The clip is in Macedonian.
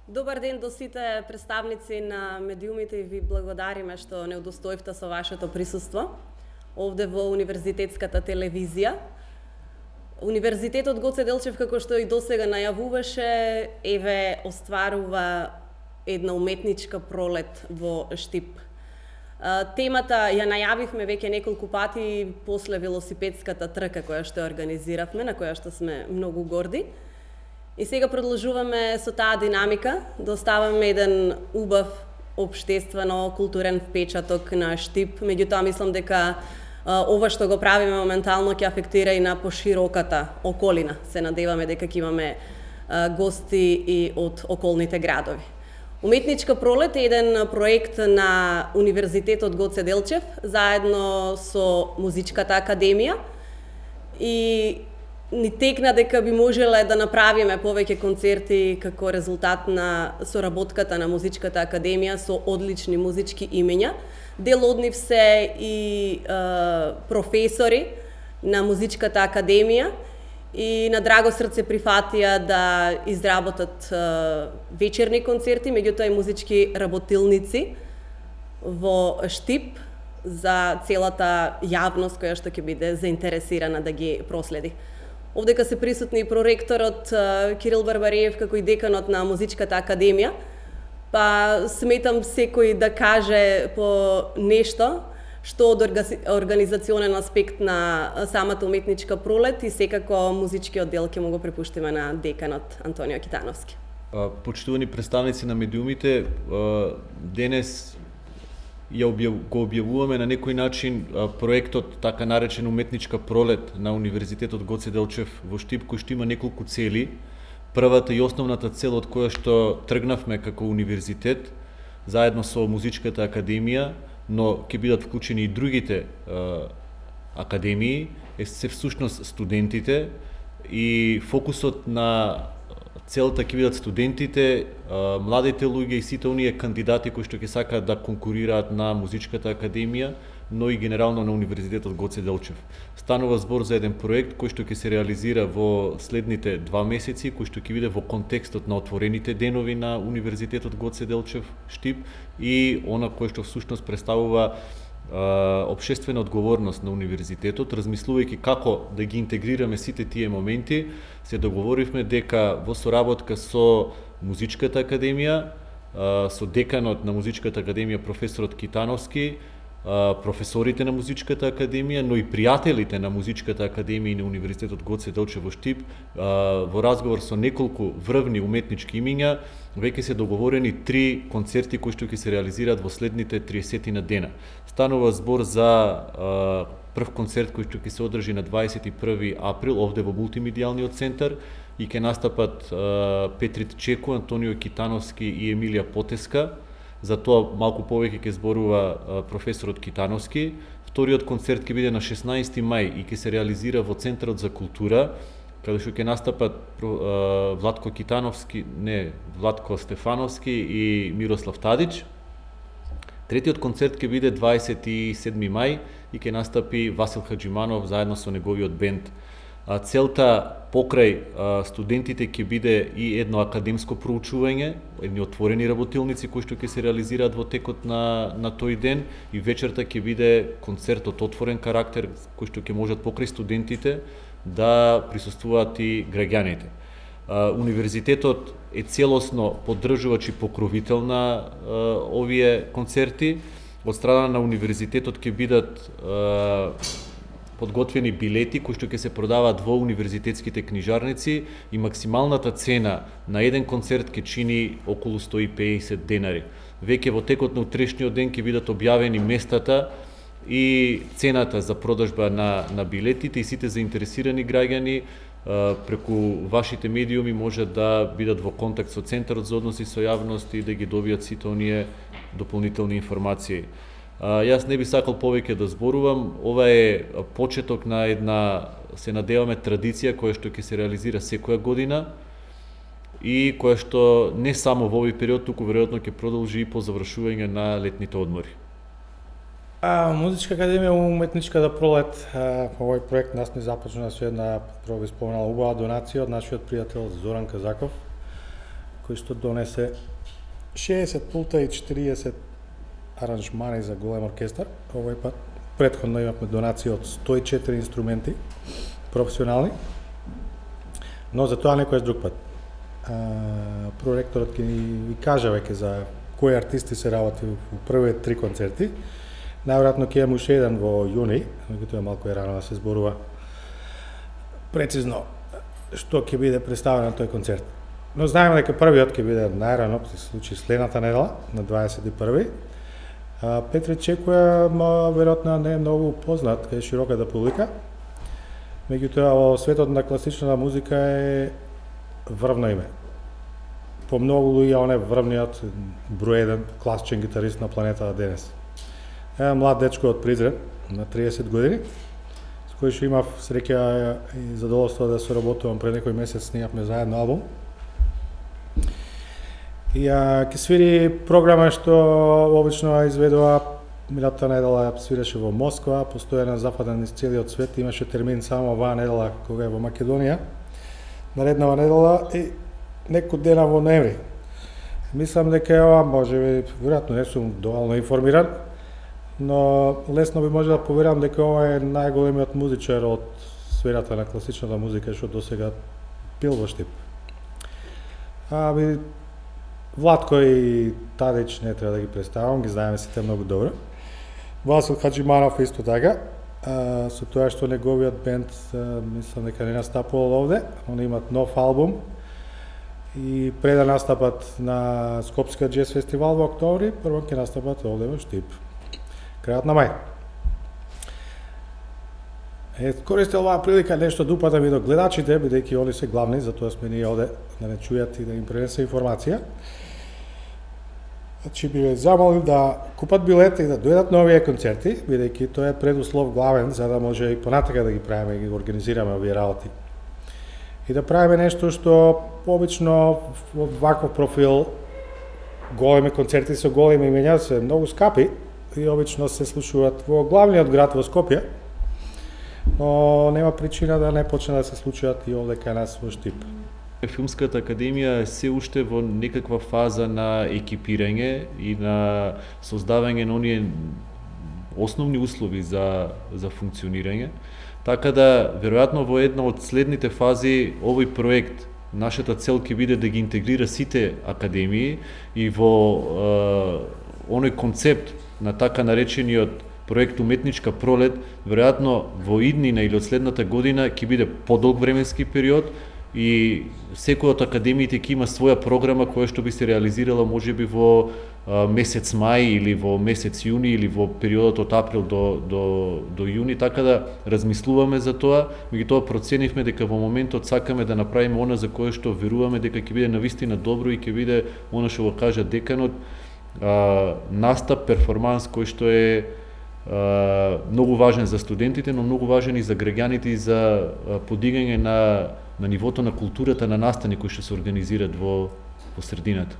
Добар ден до сите представници на медиумите и ви благодариме што не удостоивте со вашето присуство овде во Универзитетската телевизија. Универзитетот Гоце Делчев, како што и досега најавуваше, еве остварува една уметничка пролет во Штип. Темата ја најавивме веќе неколку пати после велосипедската трка која што организиравме, на која што сме многу горди. И сега продолжуваме со таа динамика, да оставаме еден убав општествено-културен впечаток на Штип. Меѓутоа, мислам дека ова што го правиме моментално ќе афектира и на пошироката околина. Се надеваме дека ќе имаме гости и од околните градови. Уметничка пролет е еден проект на Универзитетот Гоце Делчев, заедно со Музичката академија, и ни текна дека би можеле да направиме повеќе концерти како резултат на соработката на Музичката академија со одлични музички имења. Дел од нив се и професори на Музичката академија и на драго срце прифатија да изработат вечерни концерти, меѓутоа и музички работилници во Штип за целата јавност која што ќе биде заинтересирана да ги проследи. Овдека се присутни и проректорот Кирил Барбариев како и деканот на Музичката академија, па сметам секој да каже по нешто што од организационен аспект на самата уметничка пролет, и секако музичкиот дел ќе му го препуштиме на деканот Антонио Китановски. Почитувани представници на медиумите, денес го објавуваме на некој начин проектот, така наречен уметничка пролет на Универзитетот Гоце Делчев во Штип, кој што има неколку цели. Првата и основната цел од која што тргнавме како универзитет, заедно со Музичката академија, но ќе бидат вклучени и другите академии, се всушност студентите, и фокусот на целта ќе бидат студентите, младите луѓе и сите оние кандидати кои што ќе сакаат да конкурираат на Музичката академија, но и генерално на Универзитетот Гоце Делчев. Станува збор за еден проект кој што ќе се реализира во следните 2 месеци, кој што ќе биде во контекстот на отворените денови на Универзитетот Гоце Делчев Штип и она кој што всушност представува општествена одговорност на универзитетот. Размислувајќи како да ги интегрираме сите тие моменти, се договоривме дека во соработка со Музичката академија, со деканот на Музичката академија професорот Китановски, професорите на Музичката академија, но и пријателите на Музичката академија и на Универзитетот Гоце Делчев во Штип, во разговор со неколку врвни уметнички имиња, веќе се договорени 3 концерти кои што ќе се реализираат во следните 30 на дена. Станува збор за прв концерт кој што ќе се одржи на 21 април овде во мултимедијалниот центар и ќе настапат Петрит Чеку, Антонио Китановски и Емилија Потеска. За тоа малку повеќе ќе зборува професорот Китановски. Вториот концерт ќе биде на 16 мај и ќе се реализира во Центарот за култура, каде што ќе настапат Владко Стефановски и Мирослав Тадич. Третиот концерт ќе биде 27 мај и ќе настапи Васил Хаджиманов заедно со неговиот бенд. Целта покрај студентите ќе биде и едно академско проучување, едни отворени работилници кои што ќе се реализираат во текот на тој ден, и вечерта ќе биде концерт од отворен карактер кој што ќе можат покрај студентите да присуствуваат и граѓаните. Универзитетот е целосно поддржувач и покровител на овие концерти. Од страна на универзитетот ќе бидат подготвени билети кои што ќе се продаваат во универзитетските книжарници и максималната цена на еден концерт ќе чини околу 150 денари. Веќе во текот на утрешниот ден ќе бидат објавени местата и цената за продажба на билетите, и сите заинтересирани граѓани преку вашите медиуми може да бидат во контакт со Центарот за односи со јавност и да ги добијат сите оние дополнителни информации. Јас не би сакал повеќе да зборувам. Ова е почеток на една, се надеваме, традиција која што ќе се реализира секоја година и која што не само во овој период, туку веројатно ќе продолжи и по завршување на летните одмори. Музичка академија уметничката пролет, овој проект нас не започна со една, прво би споменал, убава донација од нашиот пријател Зоран Казаков, кој што донесе 60 пулта и 40 аранжмани за голем оркестар. Овој пат претходно имавме донации од 104 инструменти професионални, но за тоа некој друг пат. Проректорот ќе ни кажа веќе за кои артисти се работи во првите 3 концерти. Најверојатно ќе имаме уште еден во јуни, меѓутоа е малку рано да се зборува прецизно што ќе биде представено на тој концерт. Но знаеме дека првиот ќе биде најрано, се случи следната недела, на 21. Петре Чекоја, веројатно не е многу познат кај широката публика, меѓутоа во светот на класичната музика е врвно име. По многу луѓе он е врвниот број 1 класичен гитарист на планетата денес. Е млад дечко од Призрен на 30 години, с кој што имав среќа и задоволство да соработувам пред некој месец, снимавме заедно албум. И ќе свири програма што обично изведува минатата недела, свиреше во Москва, постојано западен из целиот свет, имаше термин само оваа недела кога е во Македонија, нареднава недела и некој дена во ноември. Мислам дека ова можеби, веројатно не сум доволно информиран, но лесно би може да поверам дека ова е најголемиот музичар од сферата на класичната музика што досега бил во Штип. Владко и Тадич не треба да ги представам, ги знаеме сите многу добро. Васил Хаджиманов исто така, со тоа што неговиот бенд мислам дека не настапувал овде, они имат нов албум и пред да настапат на Скопскиот джез фестивал во октомври, прво ќе настапат овде во Штип, крајот на мај. Користел оваа прилика нешто да упатам и до гледачите, бидејќи они се главни, затоа сме ние овде да не чујат и да им пренесе информација. Значи би ве замолил да купат билети и да дојдат на овие концерти, бидејќи тоа е предуслов главен за да може и понатака да ги правиме и ги организираме овие работи. И да правиме нешто што обично во ваков профил големи концерти со големи имења се многу скапи и обично се случуваат во главниот град во Скопје, но нема причина да не почне да се случуваат и овде кај нас во Штип. Филмската академија е се уште во некаква фаза на екипирање и на создавање на оние основни услови за функционирање. Така да, веројатно во една од следните фази овој проект, нашата цел ќе биде да ги интегрира сите академии и во оној концепт на така наречениот проект Уметничка пролет, веројатно во иднина или од следната година ќе биде подолг временски период и секој од академиите ќе има своја програма која што би се реализирала можеби во месец мај или во месец јуни или во периодот од април до јуни, така да размислуваме за тоа, меѓутоа проценивме дека во моментот сакаме да направиме она за кое што веруваме дека ќе биде навистина добро и ќе биде она што го кажа деканот, настап, перформанс кој што е многу важен за студентите, но многу важен и за граѓаните и за подигање на нивото на културата на настани кои што се организираат во средината.